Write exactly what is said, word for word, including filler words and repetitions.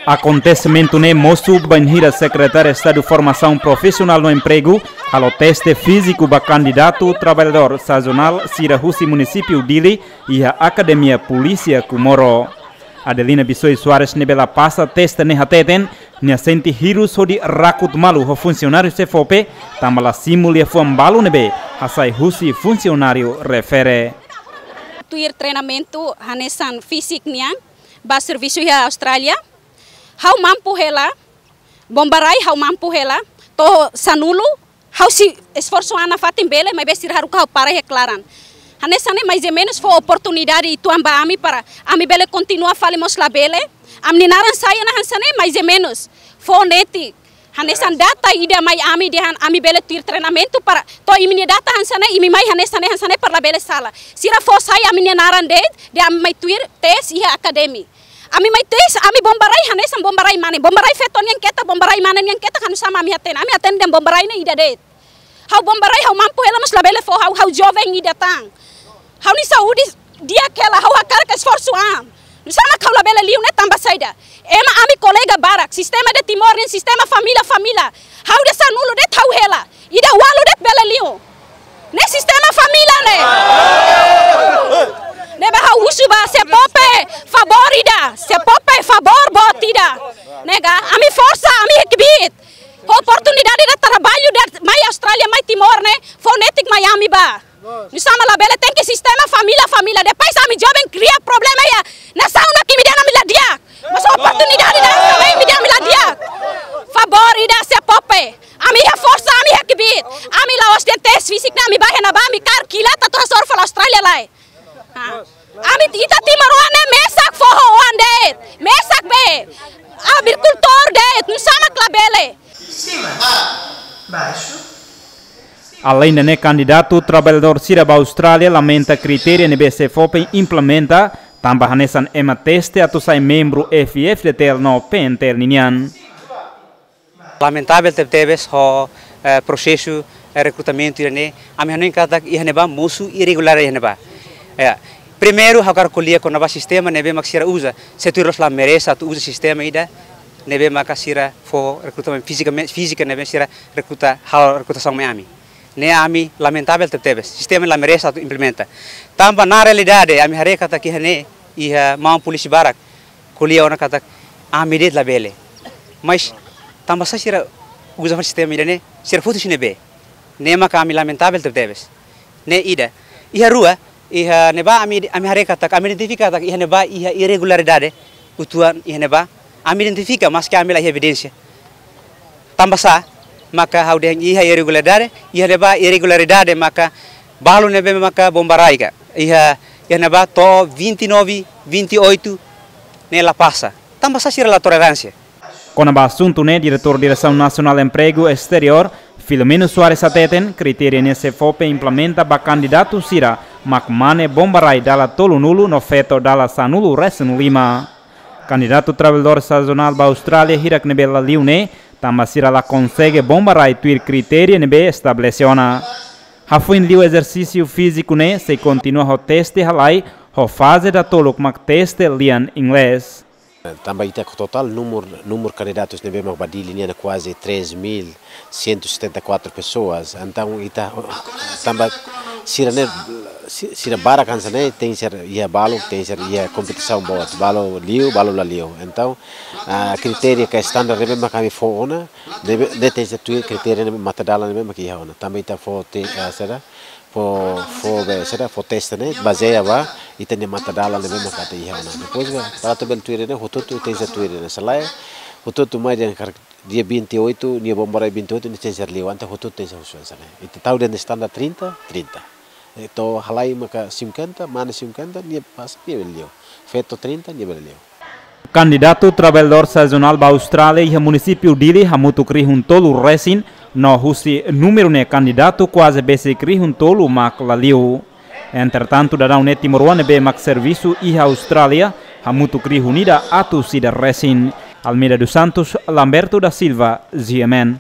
Akontesimentu ne'e mosu bainhira Sekretáriu Estadu Formasaun Profisionál no Empregu halo teste fíziku ba kandidatu traballadór sazonál sira husi munisípiu Dili iha Akademia Polísia Comoro. Adelina Bissoy Soares ne'ebé la pasa teste ne'e hateten, nia sente hirus hodi rakut malu ho funsionáriu SEFOPE, tanba la simu liafuan balu ne'ebé hasai husi funsionáriu refere. Tuir treinamentu hanesan fisik nian, ba servisu iha Austrália. Ha'u mampu hela, bombarai ha'u mampu hela, to'o sanulu, ha'u sei esforsu an nafatin bele, maibé sira haruka ha'u para iha klaran. Hanesan ne'e mais ou menus fó oportunidade uitoan ba ami para ami bele kontinua fali mós labele. Ami-nia naran sai ona hanesan ne'e mais ou menus. Fó netik. Hanesan data ida mai ami dehan ami bele tuir treinamentu para to'o imi-nia data hanesan ne'e, imi mai hanesan ne'e, hanesan ne'e para labele sala. Sira fó sai ami-nia naran de'it, dehan ami mai tuir tes iha akademi. Ami mai tes, ami bombarai hanesan bombarai mane. Bombarai feto nian ketak, bombarai mane nian ketak, nusá mak ami hatene. Ami hatene dehan bombarai ne'e ida de'it. Ha'u bombarai, ha'u mampu hela mós labele fó ha'u, ha'u joven ida tan. Ha'u-nia saúde di'ak hela, ha'u hakarak esforsu an. Nusá mak ha'u labele liu ne'e tanba saida? Ema ami kolega barak, sistema de Timor nian, sistema família, família. Ha'u ida sanulu de'it ha'u hela. Ida ualu de'it bele liu. Ne'e sistema família ne'e. Ne'ebé ha'u husu ba SEFOPE, favór ida. SEFOPE, favór boot ida. Ne'e ka, ami forsa, ami iha kbiit. Ho oportunidade ida traballu ida mai Austrália, mai Timor ne'e, fó netik mai ami ba. Nusá mak labele, tenke sistema família, família. Depois ami joven kria problema iha nasaun ne'e, imi dehan ami la di'ak. Mas oportunidade ida ami, imi dehan ami la di'ak. Favór ida SEFOPE. Ami iha forsa, ami iha kbiit. Ami la'ós dehan tes fisik ne'e ami ba iha ne'ebá, ami kaer kilat atu hasoru fali Austrália lai. Ha. Ami ita timoroan ne'e mesak foho oan de'it. Mesak be. Agrikultór de'it, nusá mak labele. Cima. Baixo. Alende ne'e, kandidatu traballadór sira ba Austrália lamenta kritéria ne'ebé SEFOPE implementa, tanba hanesan ema teste atu sai membru F-FDTL no PNTL ninian. Lamentavel tebetebes ho, eh, prosesu, eh, rekrutamentu ida-ne'e, ami hanoin katak iha ne'ebá mosu irregularidade iha ne'ebá. Ya. Primeiru, ha'u hakarak ko'alia kona-ba sistema ne'ebé mak sira uza, se tuir loos la merese atu uza sistema ida ne'ebé maka sira fó rekrutamentu fizikamente, fízika ne'ebé sira rekruta, halo rekrutasaun mai ami. Ne'e ami lamentavel tebetebes, sistema la merese atu implementa. Tanba na realidade, ami haree katak iha ne'e, iha maun polísia barak ko'alia ona katak ami de'it labele. Mas tanba sá sira uza sistema ida-ne'e, sira foti husi ne'ebé? Ne'e maka ami lamentavel tebetebes. Ne'e ida. Iha rua, iha ne'ebá ami, ami haree katak, ami identifika katak iha ne'ebá iha irregularidade uitoan iha ne'ebá. Ami identifika, maski ami la iha evidénsia. Tanba sá maka ha'u dehan iha irregularidade, iha ne'ebá irregularidade maka balu ne'ebé maka bombarai ka. Iha, iha ne'ebá to'o vinte e nove, vinte e oito ne'e la pasa. Tanba sá sira la toleránsia? Kona-ba asuntu ne'e, Diretór Diresaun Nasionál Empregu Esteriór, Filomeno Soares hateten, kritéria ne'e SEFOPE implementa ba kandidatu sira mak mane bombarai dala tolunulu no feto dala sanulu-resin-lima. Kandidatu traballadór sazonál ba Austrália hirak ne'ebé la liu ne'e, tanba sira la konsege bombarai tuir kritéria ne'ebé estabelese ona. Hafoin liu ezersísiu fíziku ne'e, sei kontinua ho teste halai, ho faze datoluk mak teste lian inglés. Tanba ita totál númeru, númeru kandidatus ne'ebé mak ba Dili nian kuaze três mil cento e setenta e quatro pessoas. Entaun ita, tanba sira ne'e, si-, sira barak hanesan ne'e, tenke ser iha balu, tenke ser iha kompetisaun boot. Balu liu, balu la liu. Entaun, ah, kritéria ka standar ne'ebé mak ami fó ona, ne'ebé, ne'e tenke ser tuir kritéria ne'ebé matadalan ne'ebé mak iha ona. Tanba ita fó te, ah, sira, fó, fó be, sira, fó teste ne'e bazeia ba ita-nia matadalan ne'ebé mak ita iha ona. Depois be, para atu bele tuir ne'e, hotu-hotu tenke ser tuir ne'e. Se lae, hotu-hotu mai dehan karik dia vinte e oito, nia bombarai vinte e oito, nia tenke ser liu, entaun hotu-hotu tenke ser husu hanesan ne'e. Ita tau dehan standar trinta, trinta. Entaun halai maka cinquenta, mane cinquenta, nia pasa, nia bele liu. Feto trinta, nia bele liu. Kandidatu traballadór sazonál ba Austrália iha munisípiu Dili hamutuk rihun tolu-resin, no husi númeru ne'e kandidatu kuaze besik rihun tolu mak la liu. Entretantu, daudaun ne'e timoroan ne'ebé mak servisu iha Austrália hamutuk rihun ida atus ida-resin. Almeida dos Santos, Lamberto da Silva, G M N.